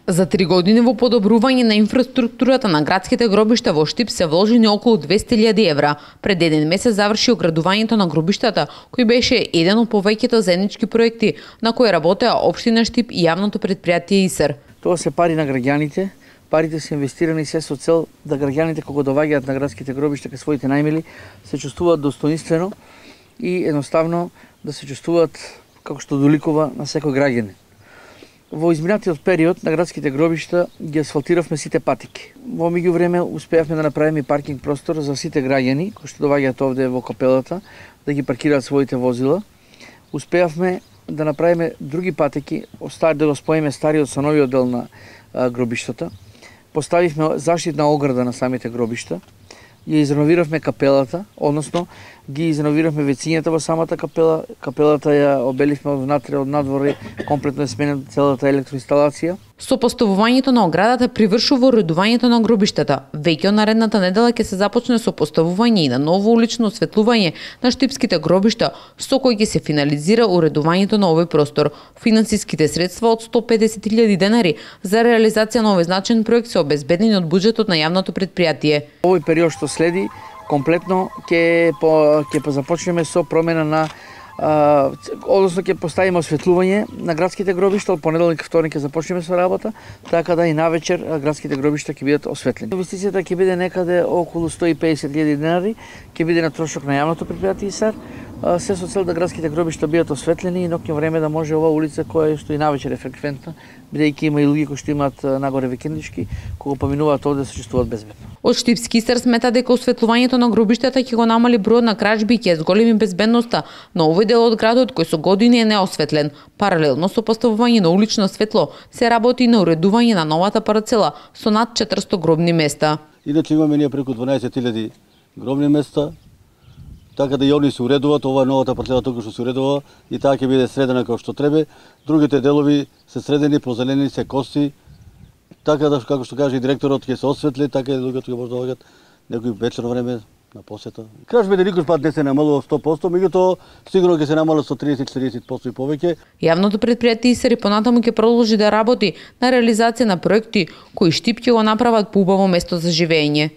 За 3 години во подобрување на инфраструктурата на градските гробишта во Штип се вложени околу 200.000 евра. Пред еден месец заврши оградувањето на гробиштата, кој беше еден од повеќето заеднички проекти на кои работеа општина Штип и јавното претпријатие ИСР. Тоа се пари на граѓаните. Парите се инвестирани се со цел да граѓаните кога доаѓаат на градските гробишта кај своите најмили се чувствуваат достоинствено и едноставно да се чувствуваат како што доликува на секој граѓанин. Во изминатиот период на градските гробишта ги асфалтиравме сите патики. Во меѓувреме успеавме да направиме и паркинг простор за сите граѓани кои што доаѓаат овде во капелата да ги паркираат своите возила. Успеавме да направиме други патеки, да го споиме стариот со новиот дел на гробиштата. Поставивме заштитна ограда на самите гробишта. Ја изреновиравме капелата, односно ги изреновиравме вецињата во самата капела. Капелата ја обеливме од внатре, од надвор, комплетно е сменена целата електроинсталација. Сопоставувањето на оградата привршува уредувањето на гробиштата. Веќе од наредната недела ќе се започне сопоставување и на ново улично осветлување на штипските гробишта, со кој ќе се финализира уредувањето на овој простор. Финансиските средства од 150.000 денари за реализација на овој значаен проект се обезбедени од буџетот на јавното претпријатие. Овој период што следи, комплетно ќе започнеме со промена на односно ќе поставиме осветлување на градските гробишта. Од понеделник, вторник ќе започнеме со работа, така да и навечер градските гробишта ќе бидат осветлени. Инвестицијата ќе биде некаде околу 150.000 денари, ќе биде на трошок на јавното претпријатие ИСР, се со цел да градските гробишта бидат осветлени и ноќно време да може оваа улица која што и навечер е фреквентна, бидејќи има и луѓе кои што имаат нагоре викендички, кога поминуваат овде се чувствуваат безбедно. Од Штипски ИСР смета дека осветлувањето на гробиштата ќе го намали бројот на кражби и ќе зголеми безбедноста на овој дел од градот кој со години е неосветлен. Паралелно со поставување на улично светло се работи и на уредување на новата парцела со над 400 гробни места. Иначе имаме ние преку 12.000 гробни места, така да и они се уредуваат. Ова новата парцела тука што се уредува и таа ќе биде средена како што треба. Другите делови се средени, позеленени, се коси, така да како што каже и директорот ќе се осветли, така и луѓето ќе може да доаѓаат некој вечерно време на посета. Кражбите никош пат не се намалува 100%, меѓутоа сигурно ќе се намалат со 30-40% и повеќе. Јавното претпријатие ИСР понатаму ќе продолжи да работи на реализација на проекти кои Штип ќе го направат поубаво место за живење.